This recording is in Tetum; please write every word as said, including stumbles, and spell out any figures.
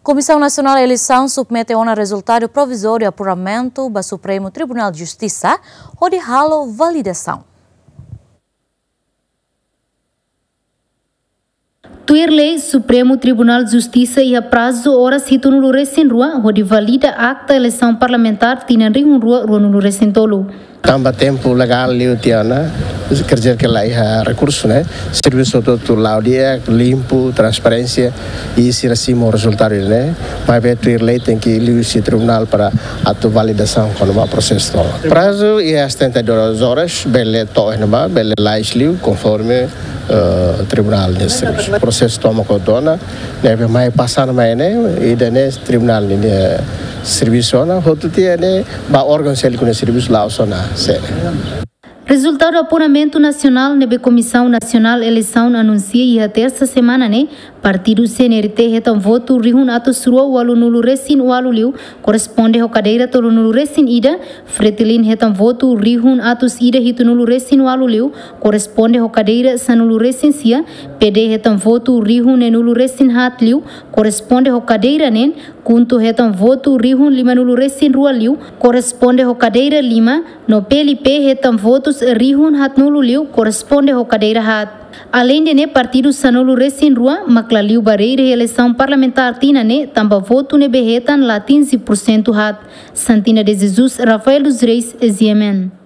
Komisaun Nasionál Eleisaun submete ona rezultadu provizóriu apuramentu ba Supremu Tribunál Justisa hodi halo validasaun. Tuir lei, Supremu Tribunál Justisa iha prazu oras hitunulu resin rua hodi valida akta eleisaun parlamentár tinan rihun rua ruanulu resin tolu. Tanba tempu legál liu tiha ona, kerja ke la iha rekursu ne'e, servisu hotu-hotu la'o di'ak, limpu, transparénsia, i sira simu rezultadu ne'e, maibé tuir lei tenke liu husi tribunál para atu validasaun kona-ba prosesu tomak. Prazu iha setenta e duas horas, bele to'o iha ne'ebá, bele lais liu, konforme, eh, tribunál nia servisu. Prosesu tomak hotu ona, ne'ebé mai pasa ona mai ne'e, ida-ne'e tribunál nia servisu ona, hotu tiha ne'e, ba órgaun seluk nia servisu la'o sona, sé. Rezultadu apuramentu nasionál ne'ebé Komisaun Nasionál Eleisaun anunsia iha tersa semana ne'e, partidu C N R T hetan votu rihun atus rua ualunulu resin ualu liu, koresponde ho kadeira tolunulu resin ida, Fretilin hetan votu rihun atus ida hitunulu resin ualu liu, koresponde ho kadeira sanulu resin sia, P D hetan votu rihun neenulu resin haat liu, koresponde ho kadeira neen, KHUNTO hetan votu rihun limanulu resin rua liu, koresponde ho kadeira lima, no P L P hetan votus rihun haatnulu liu, koresponde ho kadeira haat. Aleinde ne'e, partidu sanulu resin rua mak la liu ba rede eleisaun parlamentár tinan ne'e, tanba votu ne'ebé hetan la atinje pursentu haat. Santina de Jesus, Rafael dos Reis, G M N.